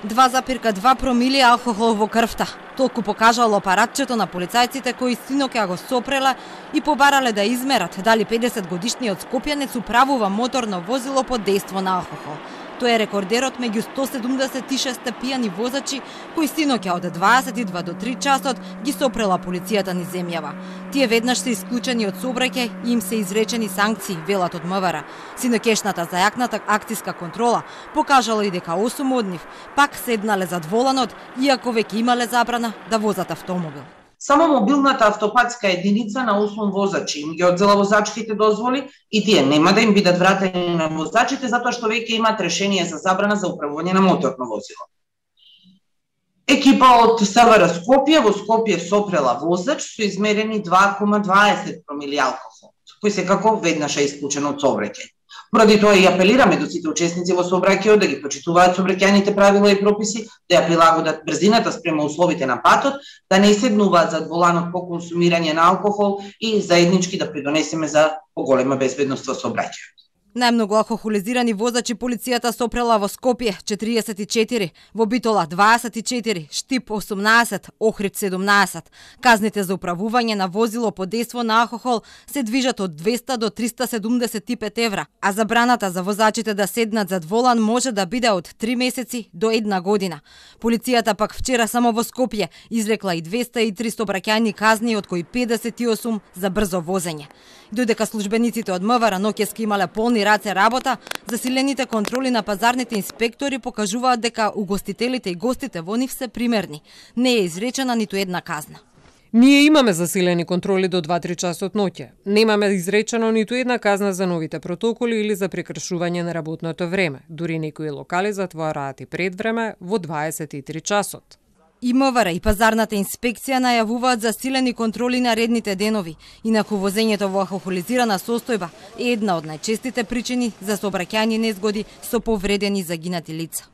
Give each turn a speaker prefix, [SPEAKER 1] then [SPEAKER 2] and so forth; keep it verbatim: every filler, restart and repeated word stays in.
[SPEAKER 1] два запирка два промили алкохол во крвта. Толку покажало апаратчето на полицајците кои синоќа го сопрела и побарале да измерат дали педесет годишниот скопјанец управува моторно возило под дејство на алкохол. Тој е рекордерот меѓу сто седумдесет и шест пијани возачи кои синоќа од дваесет и два до три часот ги сопрела полицијата низ земјава. Тие веднаш се исклучени од сообраќај и им се изречени санкции, велат од МВР. Синоќешната зајакната акциска контрола покажала и дека осум од нив пак седнале зад воланот, иако веќе имале забрана да возат автомобил.
[SPEAKER 2] Само мобилната автопатска единица на осум возачи им ги одзела возачките дозволи и тие нема да им бидат вратени на возачите затоа што веќе имаат решение за забрана за управување на моторно возило. Екипа од СВР Скопје во Скопје сопрела возач со измерени два кома дваесет промили алкохол, кој секако веднаш е исклучен од сообраќај. Поради тоа и апелираме до сите учесници во сообраќајот да ги почитуваат сообраќајните правила и прописи, да ја прилагодат брзината спрема условите на патот, да не седнуваат зад воланот по консумирање на алкохол и заеднички да придонесеме за поголема безбедност во сообраќајот.
[SPEAKER 1] Најмногу алкохолизирани возачи полицијата сопрела во Скопје четириесет и четири, во Битола дваесет и четири, Штип осумнаесет, Охрид седумнаесет. Казните за управување на возило под дејство на алкохол се движат од двеста до триста седумдесет и пет евра, а забраната за возачите да седнат зад волан може да биде од три месеци до една година. Полицијата пак вчера само во Скопје изрекла и двеста и три сообраќајни казни, од кои педесет и осум за брзо возење. Додека службениците од МВР ноќески имале полни раце работа, засилените контроли на пазарните инспектори покажуваат дека угостителите и гостите во нив се примерни. Не е изречена ниту една казна.
[SPEAKER 3] Ние имаме засилени контроли до два-три часот ноќе. Немаме изречено ниту една казна за новите протоколи или за прекршување на работното време. Дури некои локали затвораат и предвреме во дваесет и три часот.
[SPEAKER 1] И МВР и пазарната инспекција најавуваат засилени контроли на редните денови, инаку возењето во алкохолизирана состојба е една од најчестите причини за сообраќајни незгоди со повредени и загинати лица.